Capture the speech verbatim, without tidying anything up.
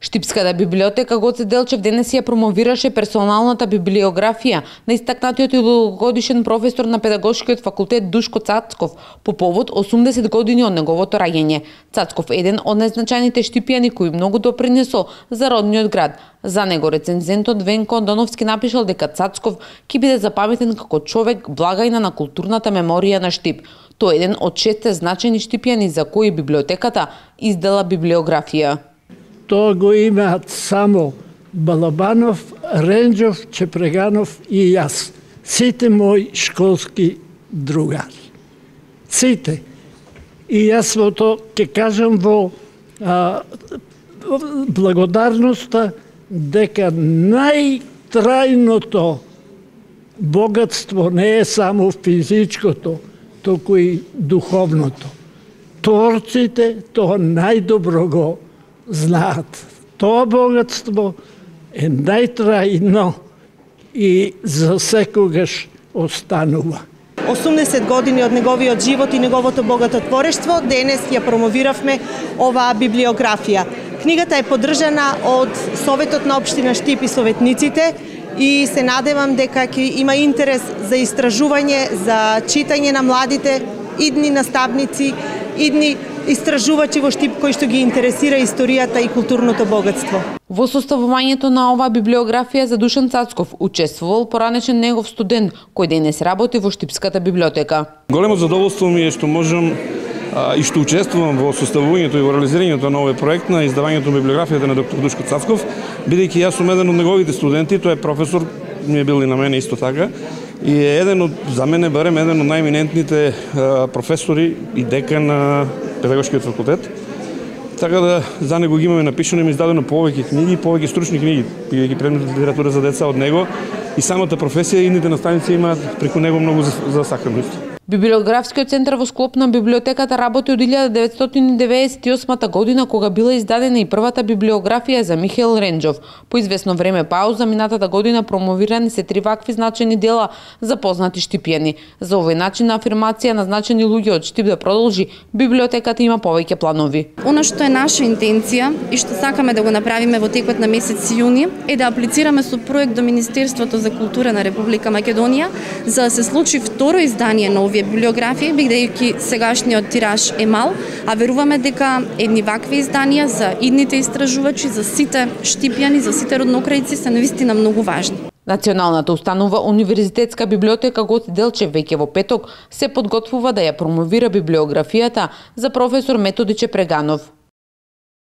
Штипската библиотека Гоце Делчев денес ја промовираше персоналната библиографија на истакнатиот и дugогодишен професор на Педагошкиот факултет Душко Цацков по повод осумдесет години од неговото раѓање. Цацков е еден од најзначајните штипјани кој многу допринесол за родниот град. За него рецензентот Венко Андоновски напишал дека Цацков ќе биде запаметен како човек благајна на културната меморија на Штип. Тој е еден од шестте значајни штипјани за кои библиотеката издала библиографија. Тоа го имаат само Балабанов, Ренџов, Чепреганов и јас. Сите мои школски другари. Сите. И јас во тоа ќе кажам во а, благодарноста дека најтрајното богатство не е само физичкото, туку и духовното. Творците тоа најдобро го знаат. Тоа богатство е најтрајно и за секогаш останува. осумдесет години од неговиот живот и неговото богато творештво, денес ја промовиравме оваа библиографија. Книгата е поддржана од Советот на општина Штип и советниците и се надевам дека ќе има интерес за истражување, за читање на младите, идни наставници, идни истражувачи во Штип кои што ги интересира историјата и културното богатство. Во составувањето на оваа библиографија за Душан Цацков учествувал поранешен негов студент кој денес работи во Штипската библиотека. Големо задоволство ми е што можам а, и што учествувам во составувањето и во реализирањето на овој проект на издавањето на библиографијата на доктор Душко Цацков, бидејќи јас сум еден од неговите студенти, тој е професор, ми е бил и на мене исто така. И е еден од, за мене барем, еден од најминентните а, професори и декан на Педагошкиот факултет. Така да за него ги имаме напишано, има издадено повеќе книги, повеќе стручни книги, бидејќи предмет литература за деца од него и самата професија и идните наставници имаат преку него многу за, за саканост. Библиографскиот центар во склоп на библиотеката работи од илјада деветстотини деветдесет и осма година кога била издадена и првата библиографија за Михаил Ренџов. По известно време пауза минатата година промовирани се три вакви значајни дела за познати штипјани. За овој начин на афирмација на значајни луѓе од Штип да продолжи, библиотеката има повеќе планови. Она што е наша интенција и што сакаме да го направиме во текот на месец јуни е да аплицираме со проект до Министерството за култура на Република Македонија за да се случи второ издание на овие библиографија, бидејќи сегашниот тираж е мал, а веруваме дека едни вакви изданија за идните истражувачи, за сите штипјани, за сите роднокрајци се навистина многу важни. Националната установа Универзитетска библиотека Гоце Делчев веќе во петок се подготвува да ја промовира библиографијата за професор Методи Чепреганов.